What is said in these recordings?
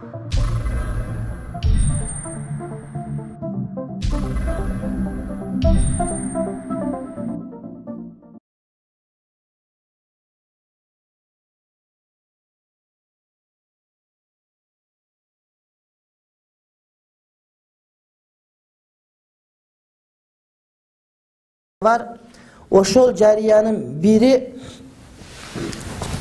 Var. Ошол жарыянын бири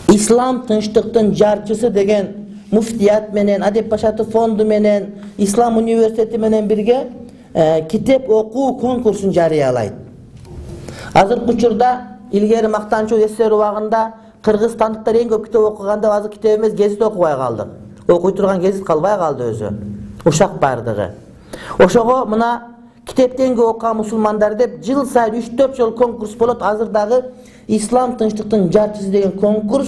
Ислам тынчтыктын жарчысы деген муфтият менен, Адеп Башатов фонду менен, Ислам университети менен бирге китеп окуу конкурсун жарыялайт. Азыркы учурда илгери мактанчуу эсер убагында кыргызстандыктар эң көп китеп окуганда азыр китеп эмес, гезит окубай калдык. Окуй турган гезит калбай калды өзү. Ушак бардыгы. Ошого мына китептен көп окуган мусулмандар деп жыл сайын 3-4 жыл конкурс болот. Азыр дагы Ислам тынчтыктын жарчысы деген конкурс.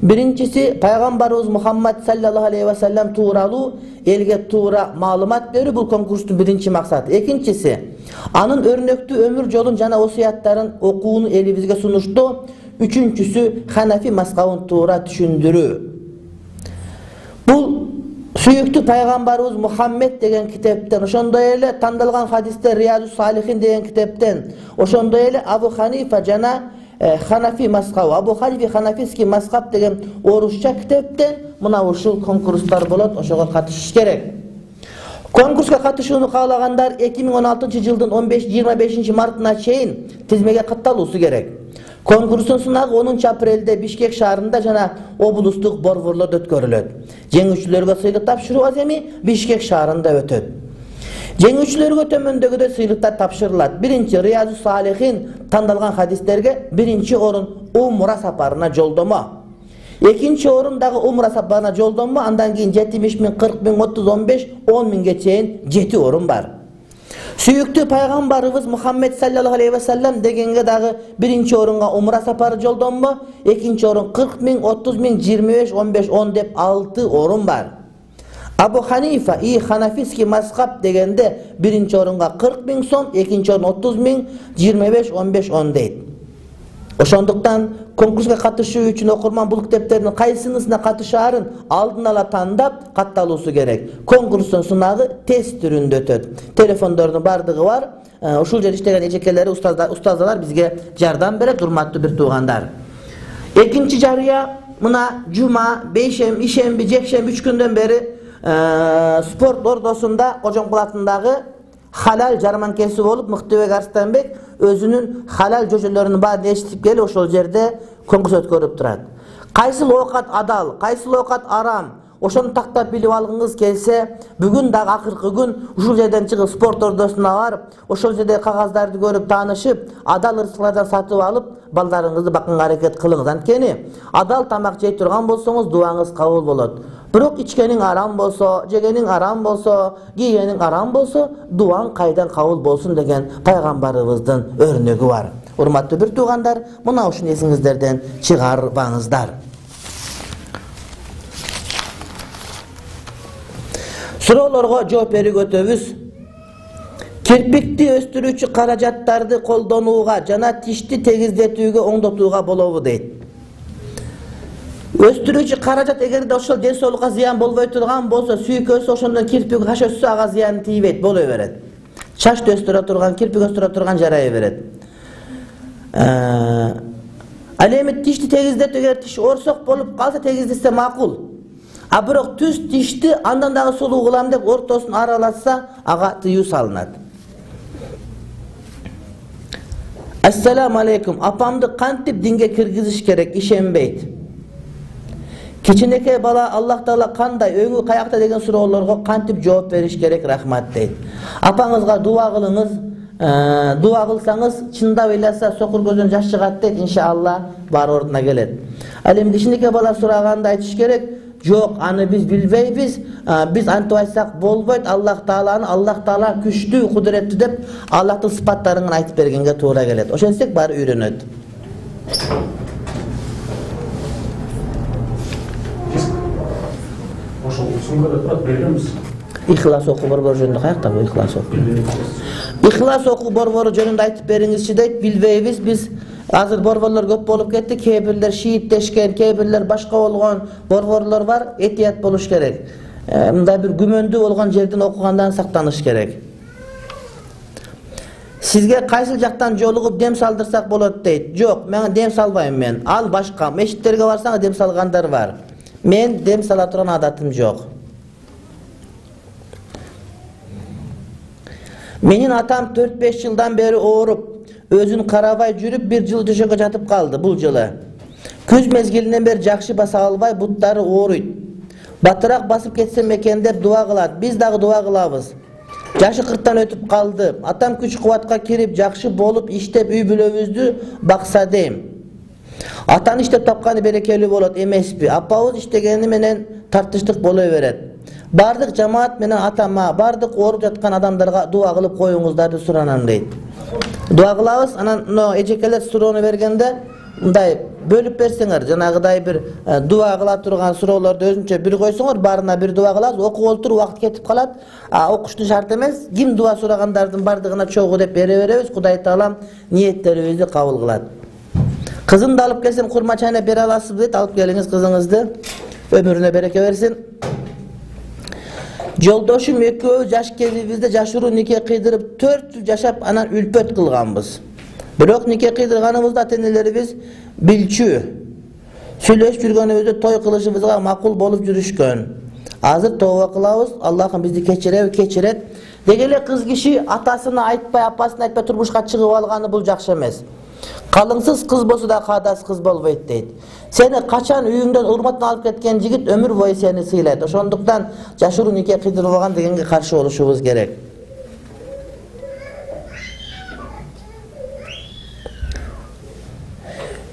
Биринчиси пайгамбарыбыз Мухаммад саллаллаху алейхи ва саллям тууралуу элге туура маалымат берүү, бул конкурстун биринчи максаты. Экинчиси анын өрнөктүү өмүр жолун жана осуяттарын окууну элибизге сунуштоо. Үчүнчүсү Ханафи мазхабын туура түшүндүрүү. Бул сүйүктүү пайгамбарыбыз Мухаммед деген китептен, ошондой эле тандалган хадистер Риядус Салихин деген китептен, ошондой эле Абу Ханифа жана Ханафи мазхабы, Абу Ханифи Ханафиский мазхаб деген орусча китептен мына ушул конкурстар болот, ошого катышыш керек. Конкурска катышууну каалагандар 2016 жылдын 25 мартына чейин тизмеге катталуусу керек. Конкурстун сынагы 10 апрелде Бишкек шаарында жана облустук борборлордо өткөрүлөт. Жеңүүчүлөргө сыйлык тапшыруу аземи Бишкек шаарында өтөт. Жеңүүчүлөргө төмөндөгүдөй сыйлыктар тапшырылат. Биринчи Риядус Салихин тандалган хадистерге биринчи орун умра сапарына жолдомо. Экинчи орун дагы умра сапарына жолдомо, андан кийин 70 000, 40 000, 30, 15, 10 000ге чейин 7 орун бар. Сүйүктүү пайгамбарыбыз Мухаммед саллаллаху алейхи ва саллям дегенге дагы биринчи орунга умра сапары жолдонмо, экинчи орун 40 000, 30 000, 25, 15, 10 деп 6 орун бар. Абу Ханифа Ханафиский мазхаб дегенде биринчи орунга 40 000 сом, экинчи орун 30 000, 25, 15, 10 дейт. Ошондуктан конкурска катышуу үчүн окурман бул китептердин кайсынысына катышаарын алдын ала тандап катталуусу керек. Конкурстун сынагы тест түрүндө өтөт. Телефондордун бардыгы бар. Ушул жерде иштеген эжекелери, устаздар бизге жардам берет, урматтуу бир туугандар. Экинчи жарыя мына жума, бейшемби, ишемби, жекшемби 3 күндөн бери спорт ордосунда Кожомкул атындагы халал жарманкеси болуп, Мыктыбек Арстанбек өзүнүн халал жөжөлөрүнүн баарын эчтип келип ошол жерде конкурс өткөрүп турат. Кайсыл оокат адал, кайсыл оокат арам, ошону тактап билип алгыңыз келсе, бүгүн дагы акыркы күн ушул жерден чыгып спорт ордосуна барып, ошол жерде кагаздарды көрүп таанышып, адал ырыскалардан сатып алып, балдарыңызды бакканга аракет кылыңыз. Анткени адал тамак жей турган болсоңуз дуаңыз кабыл болот. Бирок ичкениң арам болсо, жегениң арам болсо, кийгениң арам болсо, дуаң кайдан кабыл болсун деген пайгамбарыбыздын өрнөгү бар. Урматтуу бир туугандар, мына ушуну эсиңиздерден чыгарбаңыздар. Суроолорго жооп берүүгө өтөбүз. Кирпикти өстүрүүчү каражаттарды колдонууга жана тишти тегиздетүүгө оңдотууга болобу дейт. Өстүрүүчү каражат эгерде ошол ден соолукка зыян болбой турган болсо, сүйкөсү ошондон кирпик каш өссө ага зыян тийбейт, боло берет. Чачты өстүрө турган, кирпик өстүрө турган жарай берет. Ал эми тишти тегиздетүү, эгер тиш орсок болуп калса тегиздесе макул. А бирок түз тишти андан дагы сулуу кылам деп ортосун аралатса, ага тыюу салынат. Ассаламу алейкум. Апамды кантип динге киргизиш керек, ишенбейт. Кичинекей бала Аллах Таала кандай, өңү каякта деген суроолорго кантип жооп бериш керек, рахмат дейт. Апаңызга дуа кылыңыз. Дуа кылсаңыз, чындап ыйласа сокур көздөн жаш чыгат дейт, иншалла бар ордуна келет. Ал эми кичинекей бала сураганда айтыш керек, жок, аны биз билбейбиз, биз антип айтсак болбойт, Аллах Таала күчтүү, кудуреттүү деп Аллахтын сыпаттарын айтып бергенге туура келет. Ошентсек баары үйрөнөт. Ихлас окуу борбору жөнүндө каякта бул ихлас окуу? Ихлас окуу борбору жөнүндө айтып бериңизчи дейт. Билбейбиз, биз азыр борборлор көп болуп кетти. Кээ бирлер шииттешкен, кээ бирлер башка болгон борборлор бар. Этият болуш керек. мындай бир күмөндүү болгон жерден окугандан сактаныш керек. Сизге кайсыл жактан жолугуп дем салдырсак болот дейт. Жок, мен дем салбайм мен. Ал башка. Мешиттерге барсаң дем салгандар бар. Мен дем сала турган адатым жок. Менин атам 4-5 жылдан бери ооруп, өзүн карабай жүрүп, 1 жыл төшөккө жатып калды бул жылы. Күз мезгилинен бери жакшы баса албай, буттары ооруйт. Батыраак басып кетсем экен деп дуа кылат. Биз дагы дуа кылабыз. Жашы 40тан өтүп калды. Атам күч-кубатка кирип, жакшы болуп, иштеп, үй бүлөбүздү бакса дейм. Атаны иштеп тапканы берекелүү болот эмеспи? Апабыз иштегени менен тартыштык боло берет. Бардык жамаат менен атама, бардык ооруп жаткан адамдарга дуа кылып коюңуздар деп суранам дейт. Дуа кылабыз. Анан эжекелер суроону бергенде мындай бөлүп берсеңер, жанагыдай бир дуа кыла турган суроолорду өзүнчө бир койсоңор, баарына бир дуа кылабыз. Окуп олтуруп убакыт кетип калат. Окушту шарт эмес. Ким дуа сурагандардын бардыгына чогуу деп бере беребиз. Кудай Таалам ниеттерибизди кабыл кылат. Кызымды алып келсем курма чайнап бере аласызбы дейт. Алып келиңиз кызыңызды. Өмүрүнө береке берсин. Жолдошум экөөбүз жаш кезибизде жашыруу нике кыйдырып 4 жыл жашап, анан үлпөт кылганбыз. Бирок нике кыйдырганыбызда ата-энелерибиз билчү. Сүйлөшүп жүргөнүбүздө той кылышыбызга макул болуп жүрүшкөн. Азыр тооба кылабыз, Аллахым бизди кечирет. Деги эле кыз киши атасына айтпай, апасына айтпай турмушка чыгып алганы бул жакшы эмес. Калыңсыз кыз болсо да каадас кыз болбойт дейт. Сени качан үйүңдөн урматтан алып кеткен жигит өмүр бою сени сыйлайт. Ошондуктан жашыруу нике кыйдырбаган дегенге каршы болушубуз керек.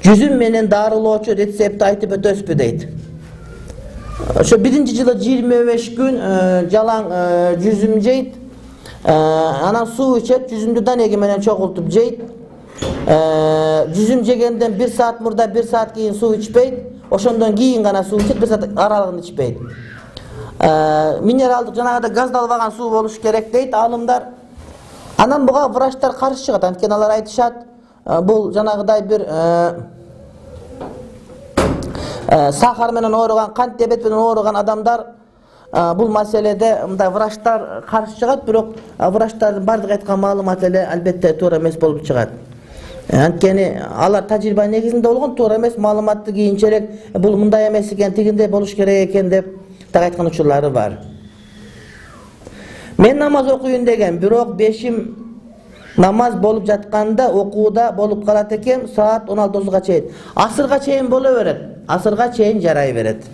Жүзүм менен дарылоочу рецепти айтып өтөсүзбү дейт. Ошо 1-жылы 25 күн жалаң жүзүм жейт. Анан суу ичет, жүзүмдү данеги менен чогултуп жейт. Жүзүм жегенден 1 саат мурда 1 саат кийин суу ичпейт. Ошондон кийин гана суу ичет, 1 саат аралыгында ичпейт. Минералдык жанагыда газдалбаган суу болуш керек дейт алымдар. Анан буга врачтар каршы чыгат. Анткени алар айтышат, бул жанагыдай бир сахар менен ооруган, кант диабет менен ооруган адамдар бул маселеде мындай врачтар каршы чыгат, бирок врачтардын бардык айткан маалыматы эле албетте туура эмес болуп чыгат. Анткени алар тажрыйба негизинде болгон, туура эмес маалыматты кийинчерээк бул мындай эмес экен, тигиндей болуш керек экен деп так айткан учурлары бар. Мен намаз окуйун деген, бирок бешим намаз болуп жатканда окууда болуп калат экен, саат 16-га чейин. Асырга чейин боло берет. Асырга чейин жарай берет.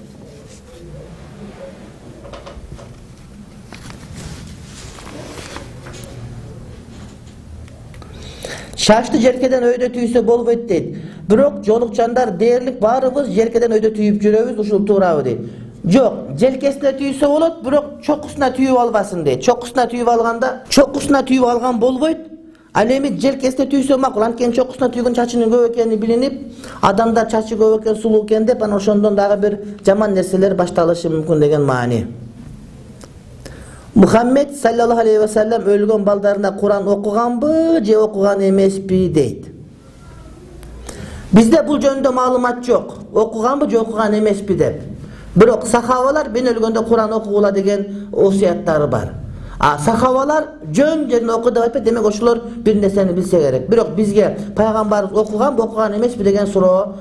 Шашты жеркеден өйдө түйсө болбойт дейт. Бирок жолукчандар дээрлик баарыбыз жеркеден өйдө түйүп жүрөбүз, ушул туурабы дейт. Жок, желкесине түйсө болот, бирок чокусуна түйүп албасын дейт. Чокусуна түйүп алган болбойт. Ал эми желкесине түйсө макул. Анткени чокусуна түйгөн чачынын көп экени билинип, адамдар чачы көп экен, сулуу экен деп, анан ошондон дагы бир жаман нерселер башталышы мүмкүн деген маани. Мухаммед саллаллаху алейхи ва саллям өлгөн балдарына Куран окуганбы же окуган эмеспи дейт. Бизде бул жөнүндө маалымат жок. Окуганбы же окуган эмеспи деп. Бирок сахабалар мен өлгөндө Куран окугула деген осуяттары бар. Сахабалар жөн жерин оку деп айтпайт, демек ошолор бир нерсени билсе керек. Бирок бизге пайгамбарыбыз окуганбы, окуган эмеспи деген суроо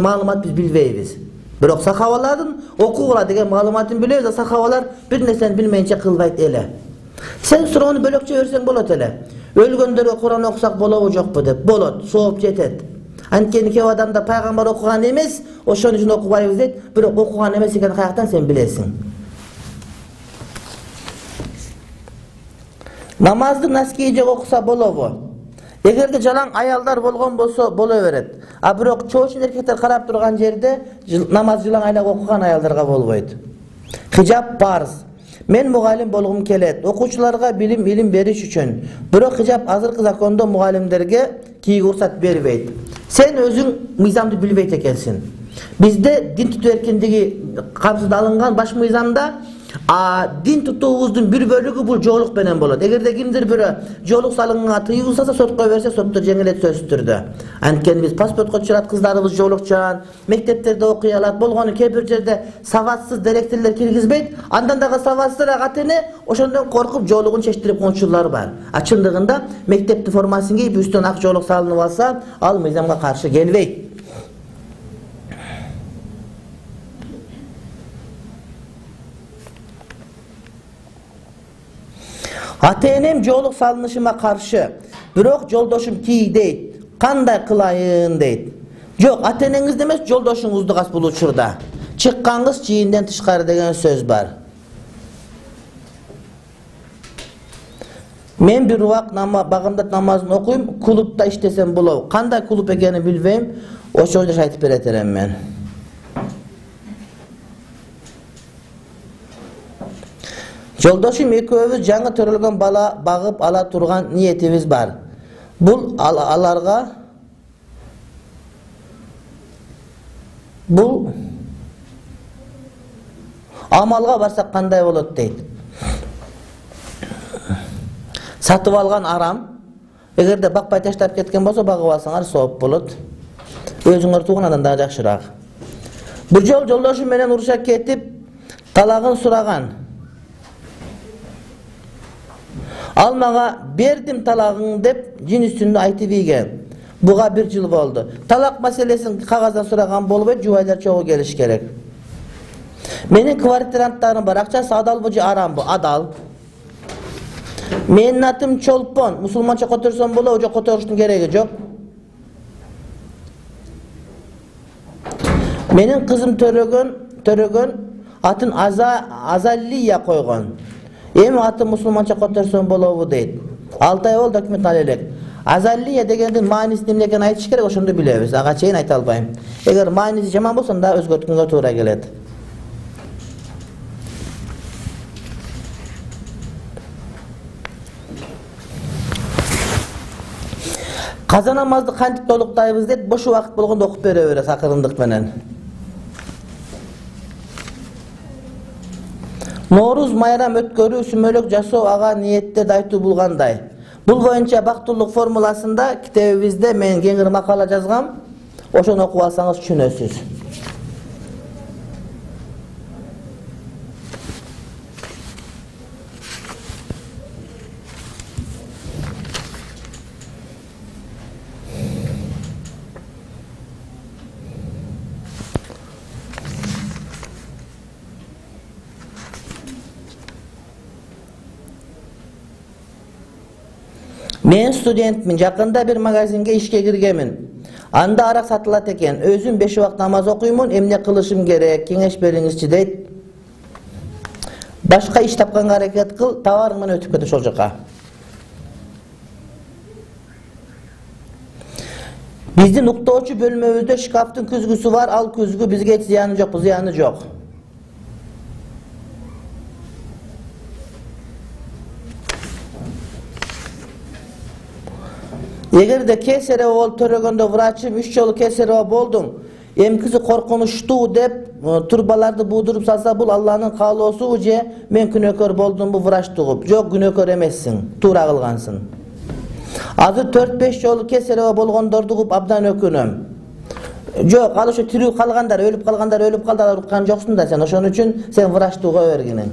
маалымат биз билбейбиз. Бирок сахабалардын окугула деген маалыматын билебиз, сахабалар бир нерсени билмейинче кылбайт эле. Сен суроону бөлөкчө берсең болот эле. Өлгөндөргө Куран окусак болобу жокпу деп. Болот, сооп жетет. Анткени кээ адамдар пайгамбар окуган эмес, ошон үчүн окубайбыз дейт, бирок окуган эмес экенин каяктан сен билесиң? Намазды наскейже окуса болобу? Эгерде жалаң аялдар болгон болсо боло берет. Бирок чоочун эркектер карап турган жерде намаз жалаң айлак окуган аялдарга болбойт. Хижаб парз. Мен мугалим болгум келет. Окуучуларга билим бериш үчүн. Бирок хижаб азыркы закондо мугалимдерге кийүүгө уруксат бербейт. Сен өзүң мыйзамды билбейт экенсиң. Бизде дин тутуу эркиндиги камсыз алынган баш мыйзамда Дин тутуубуздун бир бөлүгү бул жоолук менен болот. Эгерде кимдир бирөө жоолук салымга тыюу салса, сотко берсе, сотто жеңилет сөзсүз түрдө. Анткени биз паспортко чыгат, кыздарыбыз жоолукчан, мектептерде окуй алат, болгону кээ бир жерде сабатсыз директорлор киргизбейт. Андан дагы сабатсызраак ата-эне ошондон коркуп жоолугун чечтирип койчулар бар. Чындыгында мектептин формасын кийип, үстүнөн ак жоолук салынып алса, ал мыйзамга каршы келбейт. Ата-энем жоолук салынышыма каршы, бирок жолдошум тий дейт. Кандай кылайын дейт. Жок, ата-энеңизди эмес, жолдошуңузду кас бул учурда. Чыккаңыз чийинден тышкары деген сөз бар. Мен бир убак багымдат намазын окуйм, клубда иштесем болобу. Кандай клуб экенин билбейм, ошол жерде айтып берет элем мен. Жолдошум экөөбүз жаңы төрөлгөн бала багып ала турган ниетибиз бар. Бул амалга барсак кандай болот дейт. Сатып алган арам. Эгерде бакпай таштап кеткен болсо, багып алсаңар сооп болот. Өзүңөр тууган андан да жакшыраак. Бир жол жолдошум менен уруша кетип, талагын сураган. Ал мага бердим талагың деп жин үстүндө айтып ийген. Буга 1 жыл болду. Талак маселесин кагаздан сураган болбойт, жубайлар чогуу келиш керек. Менин квартиранттарым бар. Акчасы адалбы же арамбы? Адал. Менин атым Чолпон. Мусулманча которсом болобу же которуштун кереги жок. Менин кызым төрөгөн атын Азалия койгон. Эми аты мусулманча которсом болобу дейт. 6 ай болду өкмөт ал элек. Азалия дегендин мааниси эмне экенин айтыш керек, ошондо билебиз. Ага чейин айта албайм. Эгер мааниси жаман болсо, анда өзгөрткөнгө туура келет. Каза намазды кантип толуктайбыз дейт, бош убакыт болгондо окуп бере берет акырындык менен. Норуз майрам өткөрүү, сүмөлөк жасоо ага ниеттерди айтуу булгандай. Бул боюнча бактылык формуласында китебибизде мен кеңири макала жазгам. Ошону окуп алсаңыз түшүнөсүз. Мен студентмин, жакында бир магазинге ишке киргенмин. Анда арак сатылат экен. Өзүм 5 убакыт намаз окуймун, эмне кылышым керек, кеңеш бериңизчи дейт. Башка иш тапканга аракет кыл, товарың менен өтүп кет ошол жака. Биздин уктоочу бөлмөбүздө шкафтын күзгүсү бар, ал күзгү бизге эч зыяны жок. Эгерде кесарево болуп төрөгөндө врачым 3 жолу кесарево болдум, эмкиси коркунучтуу деп турбаларды будуруп салса, бул Алланын каалоосу же мен күнөөкөр болдумбу врач тугуп? Жок, күнөөкөр эмессиң, туура кылгансың. Азыр 4-5 жолу кесарево болгондорду угуп абдан өкүнөм. Жок, ал ошо тирүү калгандар, өлүп калды, уккан жоксуң да сен. Ошон үчүн сен врач туга бергиниң.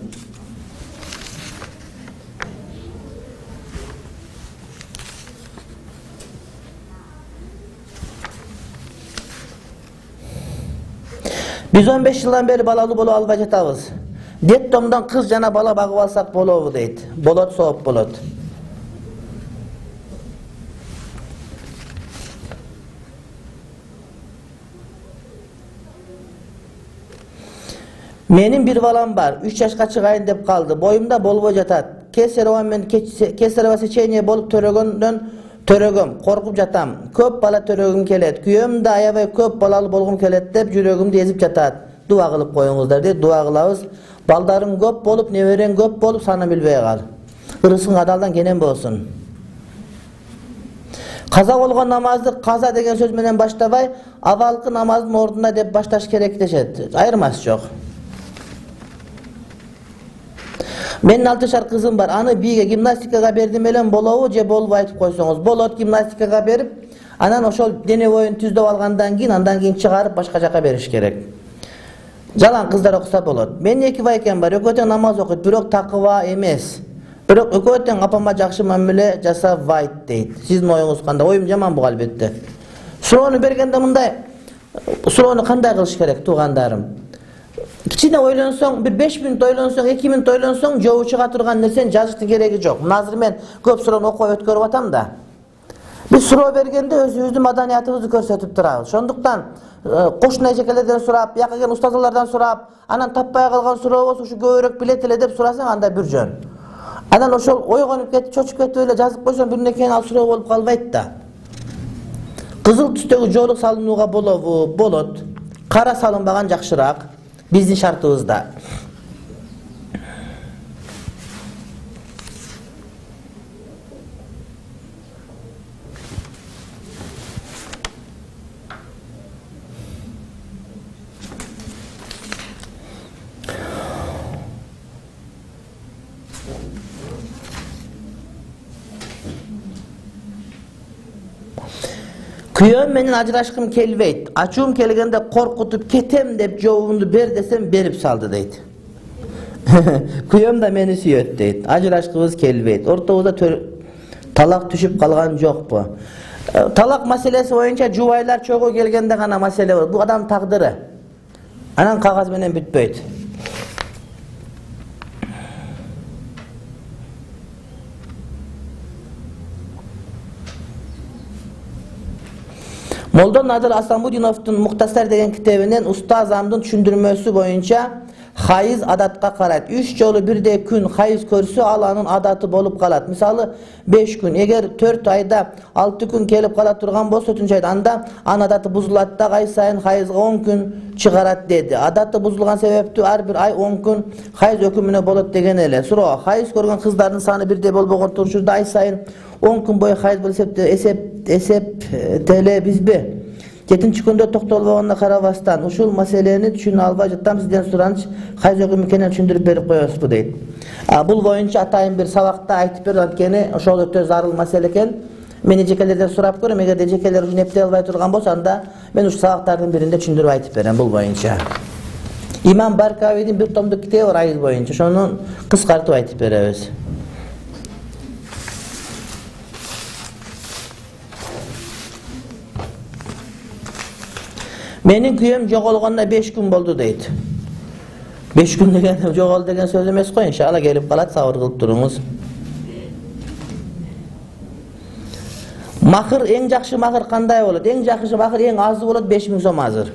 Biz 15 жылдан бери балалуу болуп албай жатабыз. Детдомдон кыз жана бала багып алсак болобу дейт. Болот, сооп болот. Менин бир балам бар, 3 жашка чыгайын деп калды. Боюмда болбой жатат. Кесарево сечение болуп төрөгөм, коркуп жатам. Көп бала төрөгүм келет. Күйөөм да аябай көп балалуу болгум келет деп жүрөгүмдү езип жатат. Дуа кылып коюңуздар дейт. Дуа кылабыз. Балдарың көп болуп, неберең көп болуп, санын билбей кал. Ырысың адалдан кенен болсун. Каза болгон намазды каза деген сөз менен баштабай, авалкы намаздын ордуна деп башташ керек дешет. Айырмасы жок. Менин 6 жашар кызым бар. Аны бийге гимнастикага бердим элем болобу же болбой айтып койсоңуз. Болот, гимнастикага берип, анан ошол дене боюн түздөп алгандан кийин, андан кийин чыгарып башка жака бериш керек. Жалаң кыздар окуса болот. Менин 2 байкем бар. Экөө тең намаз окуйт, бирок такыба эмес. Бирок экөө тең апама жакшы мамиле жасабайт дейт. Сиздин оюңуз кандай? Оюм жаман бул албетте. Суроону бергенде мындай, суроону кандай кылыш керек туугандарым? Кичине ойлонсоң, бир 5 мүнөт ойлонсоң, 2 мүнөт ойлонсоң, жообу чыга турган нерсени жазыштын кереги жок. Мына азыр мен көп суроону окуп өткөрүп атам да. Биз суроо бергенде өзүбүздүн маданиятыбызды көрсөтүп турабыз. Ошондуктан кошуна эжекелерден сурап, жака келген устазалардан сурап, анан таппай калган суроо болсо ушу көбүрөөк билет эле деп сурасаң анда бир жөн. Анан ошол ойгонуп кетип, чочуп кетип эле жазып койсоң бир нерсени ал суроо болуп калбайт да. Кызыл түстөгү жоолук салынууга болобу? Болот. Кара салынбаган жакшыраак биздин шартыбызда. Kүйөөм менен ажырашкым келбейт. Ачуум келгенде коркутуп кетем деп жообумду бер десем берип салды дейт. Күйөөм да мени сүйөт дейт. Ажырашкыбыз келбейт. Ортобузда талак түшүп калган жокпу? Талак маселеси боюнча жубайлар чогуу келгенде гана маселе болот. Бул адам тагдыры. Анан кагаз менен бүтпөйт. Молдон Надыр Асамудиновдун Муктасар деген китебинен устазамдын түшүндүрмөсү боюнча хайыз адатка карайт. 3 жолу бирдей күн хайыз көрсө, ал анын адаты болуп калат. Мисалы 5 күн, эгер 4 айда 6 күн келип кала турган болсо, 4-үнчү айда анда анын адаты бузулат да, ай сайын хайызга 10 күн чыгарат деди. Адаты бузулган себептүү ар бир ай 10 күн хайыз өкүмүнө болот деген эле. Суроо: хайыз көргөн кыздардын саны бирдей болбогон турушурда ай сайын 10 күн бою хайыз болуп эсептелебизби? 7-нчи күндө токтолбогонуна карабастан ушул маселени түшүнө албай жатам, сизден сураныч, хайыз өкүмү экенин түшүндүрүп берип коесузбу дейт. Бул боюнча атайын бир сабакта айтып берип, анткени ошол өтө зарыл маселе экен. Мен эжекелерден сурап көрөм, эгер эжекелер ушуну эптей албай турган болсо, анда мен ушул сабактардын биринде түшүндүрүп айтып берем бул боюнча. Имам Баркавийдин бир томдук китеби бар айыз боюнча, ошону кыскартып айтып беребиз. Менин күйөөм жоголгонуна 5 күн болду дейт. 5 күн деген жоголду деген сөз эмес го, иншалла келип калат, сабыр кылып туруңуз. Махыр, эң жакшы махыр кандай болот? Эң жакшы махыр, эң азы болот 5000 сом азыр.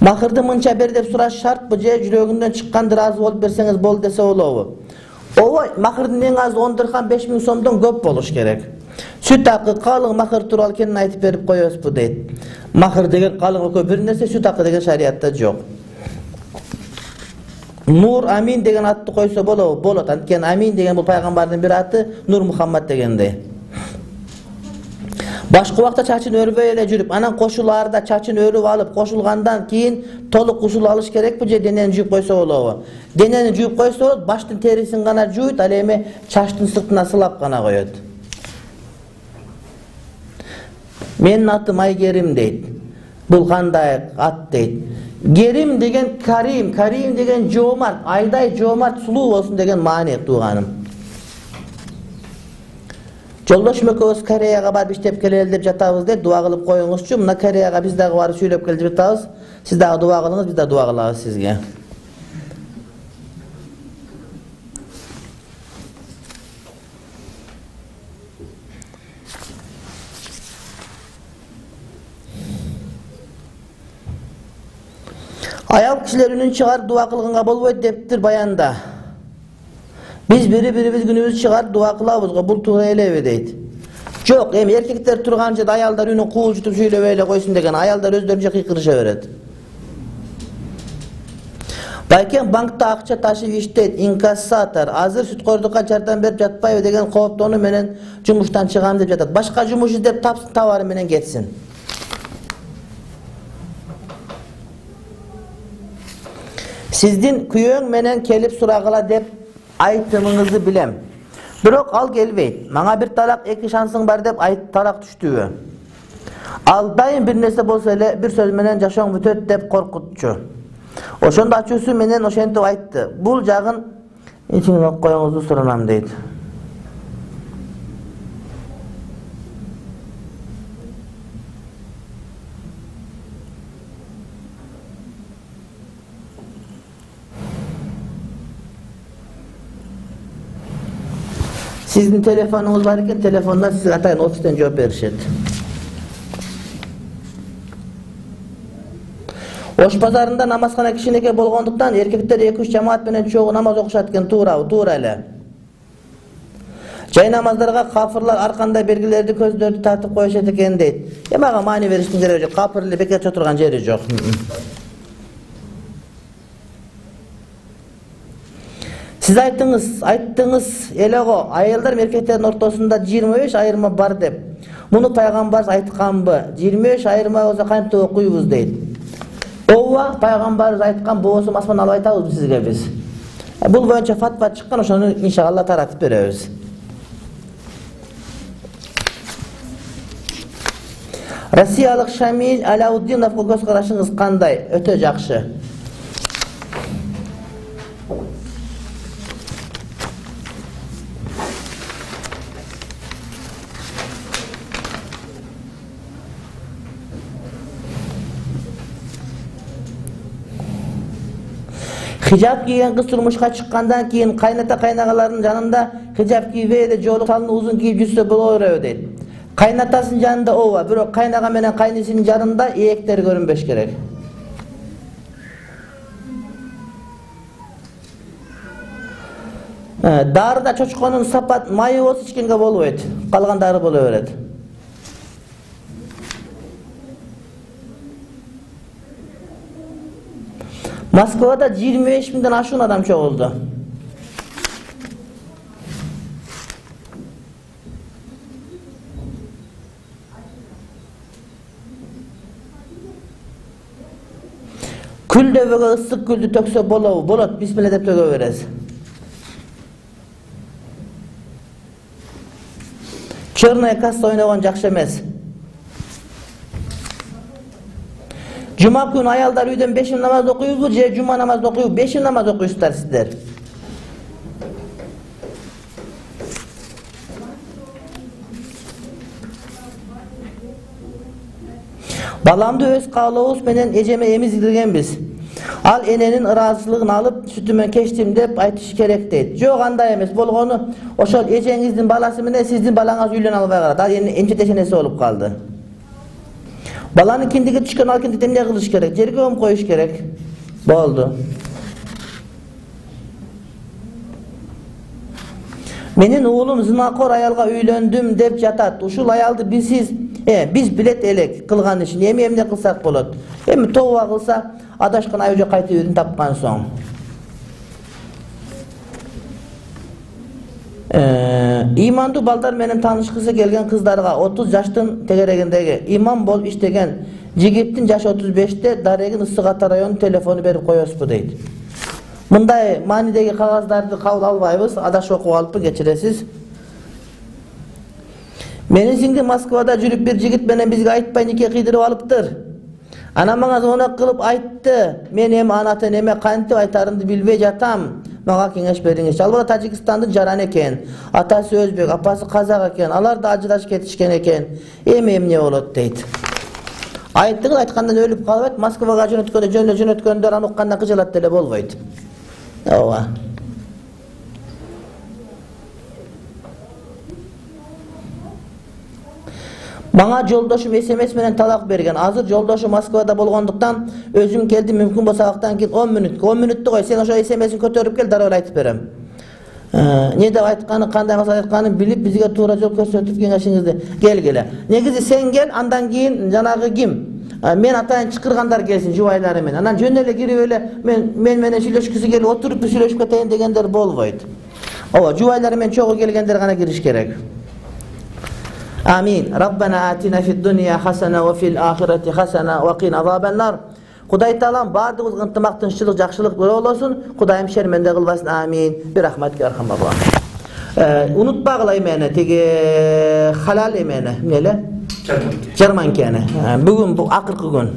Махырды мынча бер деп сураш шартпы же жүрөгүндөн чыкканды разы болуп берсеңиз болду десе болобу? Ой, махырдын эң азы 10 дирхам 5000 сомдон көп болуш керек. Сүт акы, калың махыр тууралуу кенен айтып берип коебузбу дейт. Махыр деген калың экөө бир нерсе, сүт акы деген шариятта жок. Нур Амин деген атты койсо болобу? Болот. Анткени Амин деген бул пайгамбардын бир аты, Нур Мухаммад дегендей. Башка убакта чачын өрбөй эле жүрүп, анан кошулаарда чачын өрүп алып, кошулгандан кийин толук гусул алыш керекпи же денени жууп койсо болобу? Денени жууп койсо болот, баштын терисин гана жуйт, ал эми чачтын сыртына сылап гана коет. Менин атым Айгерим дейт. Бул кандай ат дейт. Герим деген Карим, Карим деген жоомарт, айдай жоомарт, сулуу болсун деген маани тууганым. Жолдошум экөөбүз Кореяга барып иштеп келели деп жатабыз дейт, дуа кылып коюңузчу. Мына Кореяга биз дагы барып сүйлөп келип жатабыз. Сиз дагы дуа кылыңыз, биз да дуа кылабыз сизге. Аял кишилер үнүн чыгарып дуа кылганга болбойт дептир баянда. Биз бири-бирибиз күнүбүз чыгарып дуа кылабыз го, бул туура элеби дейт. Жок, эми эркектер турган жерде аялдар үнүн куулжутуп сүйлөбөй эле койсун деген, аялдар өздөрүнчө кыйкырыша берет. Байкем банкта акча ташып иштейт, инкассатор. Азыр сүткордукка жардам берип жатпайбы деген кооптонуу менен жумуштан чыгам деп жатат. Башка жумуш издеп тапсын, товары менен кетсин. Сиздин күйөөң менен келип сурагыла деп айтымыңызды билем. Бирок ал келбейт. Мага бир талак, 2 шансың бар деп талак түштүбү? Ал дайым бир нерсе болсо эле бир сөз менен жашооң бүтөт деп коркутчу. Ошондо ачуусу менен ошентип айтты. Бул жагын ичиңиз коюңузду суранам дейт. Сиздин телефонуңуз бар экен, телефондан сизге атайын офистен жооп беришет. Ош базарында намазкана кичинекей болгондуктан эркектер 2-3 жамаат менен чогуу намаз окушат экен, туура эле. Жай намаздарга кафырлар ар кандай белгилерди көздөрдү тартып коюшат экен дейт. Мага маани бериштин кереги жок, кафыр эле бекер отурган жери жок. Сиз айттыңыз элего, аялдар эркектердин ортосунда 25 айырма бар деп. Муну пайгамбар айтканбы? 25 айырма болсо кантип окуйбуз дейт. Ооба, пайгамбарыбыз айткан, болсо асман алып айтабыз сизге биз. Бул боюнча фатва чыккан, ошону иншалла таратып беребиз. Россиялык Шамиль Алауддиновго көз карашыңыз кандай? Өтө жакшы. Хижап кийген кыз турмушка чыккандан кийин кайната кайнагалардын жанында хижап кийбей эле жоолук салыны узун кийип жүрсө боло береби дейт. Кайнатасынын жанында ооба, бирок кайнага менен кайнысынын жанында ээктер көрүнбөш керек. Дарыда чочконун сапат майы болсо ичкенге болбойт. Калган дары боло берет. Москвада 25 миңден ашуун адам чогулду. Күлдөбөгө ысык күлдү төксө болобу? Болот, бисмилла деп төгө бересиз. Черная касса ойногон жакшы эмес. Жума күнү аялдар үйдөн 5 намаз окуйбузбу же жума намаз окуйбу? 5 намаз окуйсуздар сиздер. Баламды өз каалообуз менен эжеме эмиздиргенбиз. Ал эненин ыраазычылыгын алып, сүтүмөн кечтим деп айтыш керек дейт. Жок, андай эмес. Болгону ошол эжеңиздин баласы менен сиздин балаңыз үйлөнө албай калат. Ал эмчетешенеси болуп калды. Баланын киндиги түшкөн, ал киндикти эмне кылыш керек? Жерге көмүп коюш керек. Болду. Менин уулум зынакор аялга үйлөндүм деп жатат. Ушул аялды биз билет элек кылган ишин. Эмне кылсак болот? Эми тооба кылса, адашкан айжо кайтып үйүн тапкан соң. Имандуу балдар менен таанышкысы келген кыздарга 30 жаштын тегерегиндеги имам болуп иштеген жигиттин жашы 35-те Дарегин Ысык Ата районунун телефону берип коесузбу дейт. Мындай маанидеги кагаздарды кабыл албайбыз, адашып окуп алыппын, кечиресиз. Менин сиңдим Москвада жүрүп бир жигит менен бизге айтпай нике кыйдырып алыптыр. Анан мага звонок кылып айтты. Мен эми анаты неме кантип айтарымды билбей жатам. Мага кеңеш бериңиз. Ал бала Тажикстандын жараны экен. Атасы өзбек, апасы казак экен. Алар да ажырашып кетишкен экен. Эми эмне болот дейт. Айттыңыз, айткандан өлүп калбайт. Москвага жөнөткөндөр аны уккандан кыжалат деле болбойт. Ооба. Мага жолдошум SMS менен талак берген. Азыр жолдошум Москвада болгондуктан өзүм келдим, мүмкүн болсо абактан кийин 10 мүнөттү кой, сен ошо SMS-ин көтөрүп кел, дароо айтып берем. Не деп айтканы, кандай максат айтканын билип, бизге туура жол көрсөтүп кеңешиңизди келгиле. Негизи сен кел, андан кийин жанагы ким? Мен атайын чакыргандар келсин, жубайлары менен. Анан жөн эле кирип эле мен менен сүйлөшкүсү келип отуруп сүйлөшүп кетейин дегендер болбойт. Ооба, жубайлары менен чогуу келгендер гана кириш керек. آمين. ربنا آتنا في الدنيا حسنة وفي الآخرة حسنة وقنا عذاب النار Кудай Таалам бардыгыбызга ынтымактынчылык, жакшылык болосун. Кудайым шерменде кылбасын. Амин. Bir rahmat yarham Allah. Unutpagıla emene, tegi halal emene, nele? Jarmanki ene. Bugün bu akırkı gün.